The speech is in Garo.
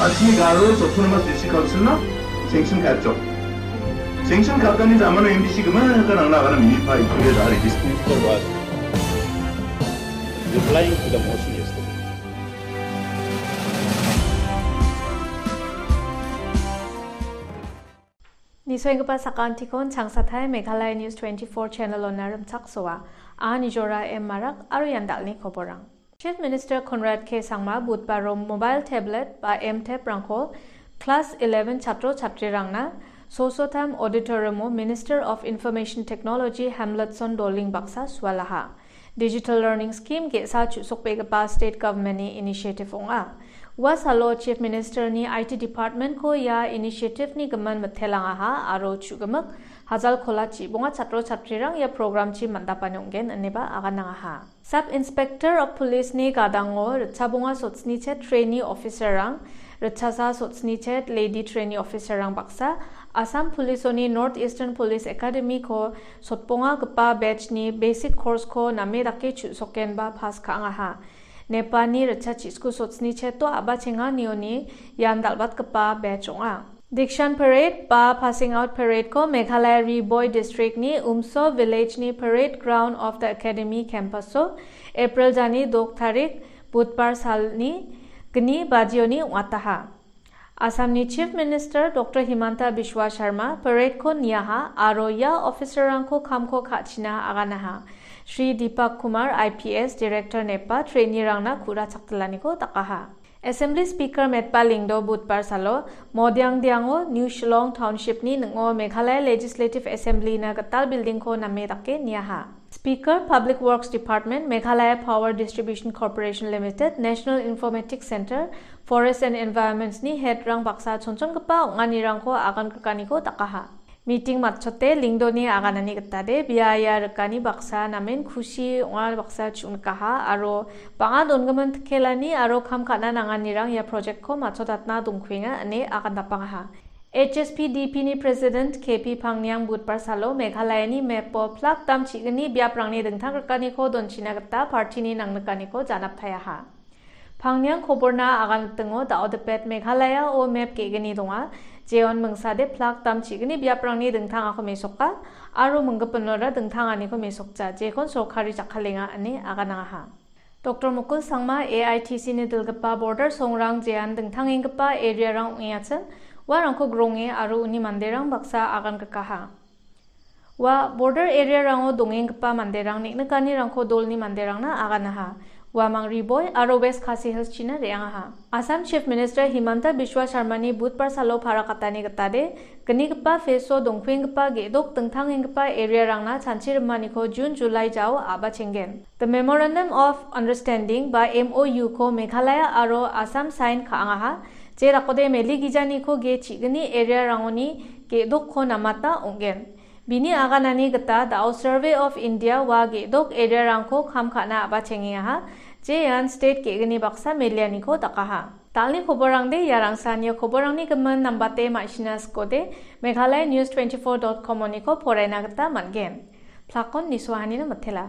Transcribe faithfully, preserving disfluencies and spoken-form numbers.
Kashmir Garo Autonomous District Council-na sanction ka·atjok. Sanction ka·atani jamano M D C gimikgipa nangna agana minipa ikuria da·a registry. Minister was replying to the motion yesterday. Nisoenggipa sakantikon changsatai Meghalaya News twenty-four channel-ona rimchaksoa. Anga Nijora M Marak aro ian dal·ni koborang. Chief Minister Conrad K Sangma Budbaro mobile tablet ba M-Tab-rangko class eleven chatro chatrirangna Sosotam Auditorium-o Minister of Information Technology Hamletson Doling baksa sualaha. Digital Learning Scheme ge·sa chu·sokbegipa state government-ni initiative ong·a. Ua salo Chief Minister-ni I T Department-ko ia initiative-ni gimin mitelangaha aro chu·gimik hajalkola chibonga chatro chatrirang ia program-chi man·dapani ong·gen ineba aganangaha. Sub Inspector of Police-ni gadango ritchabonga sotsnichet trainee officer-rang, ritchasa sotsnichet lady trainee officer-rang baksa, Assam Police-oni North Eastern Police Academy-ko sotbongagipa batch-ni basic course-ko name dake chu·sokenba pass ka·angaha. Nepani ritchachisku sotsnicheto a·bachenganioni ian dal·batgipa batch ong·a. Dikshan Parade ba Passing Out Parade-ko Meghalaya Ri Bhoi District-ni Umso Village-ni Parade Ground of the Academy Campus-o April jani dok tarik Budbar salni gni bajioni ong·ataha. Assamni Chief Minister Doctor Himanta Biswa Sharma parade-ko niaha aro ia officer-rangko kamko ka·china aganaha. Shri Deepak Kumar, I P S, Director nepa trainee-rangna ku·ra chakdilaniko dakaha. Assembly Speaker Metba Lyngdoh Budbar salo Modiangdiango New Shillong Township-ni ning·o Meghalaya Legislative Assembly-na gital building-ko name dake niaha. Speaker Public Works Department, Meghalaya Power Distribution Corporation Limited, National Informatics Centre, Forest and Environments-ni head-rang baksa chonchongipa ong·anirangko agan grikaniko dakaha. Meeting matchote Lyngdohni aganani gitade bia ia rikani baksa namen kusi ong·a baksa chu·nikaha aro bang·a dongimin tikelani aro kam ka·na nanganirang ia project-ko matchotatna dongkuenga ine agandapangaha. H S P D P-ni President K P Pangniang Budbar salo Meghalayani map-o plak dam chi·gni biaprangni dingtang grikaniko donchina gita party-ni nangnikaniko janaptaiaha. Pangniang koborna aganritingo da·odipet Meghalaya-o map ge·gni donga, jeon mingsade plak dam chi·gni biaprangni dingtangako mesoka, aro minggipinora dingtanganiko mesokja, jekon sorkari jakkalenga ine aganangaha. Doctor Mukul Sangma A I T C-ni dilgipa border songrang jean dingtangenggipa area-rang ong·eachim, uarangko gronge aro uni manderang baksa agan grikaha. Ua border area-rango dongenggipa manderang neng·nikanirangko dolni manderangna aganaha. Uamang Ri Bhoi aro West Khasi Hills-china re·angaha. Assam Chief Minister Himanta Biswa Sharmani Budbar salo parakatani gitade, gnigipa phase-o dongkuenggipa ge·dok dingtangenggipa area-rangna chanchi rimaniko June, July jao a·bachenggen. The Memorandum of Understanding ba M O U-ko Meghalaya aro Assam sign ka·angaha, je dakode meli gijaniko ge chi·gni area-rangoni ge·dokko namata ong·gen. Bini aganani gita da·o Survey of India ua ge·dok area-rangko kam ka·na a·bachengengaha, je ian state ge·gni baksa melianiko dakaha. Dal·ni koborangde iarangsan ia koborangni gimin nambate ma·sina sikode, Meghalaya News twenty-four dot com-oniko poraina gita man·gen. Plakon nisoahanina mitela.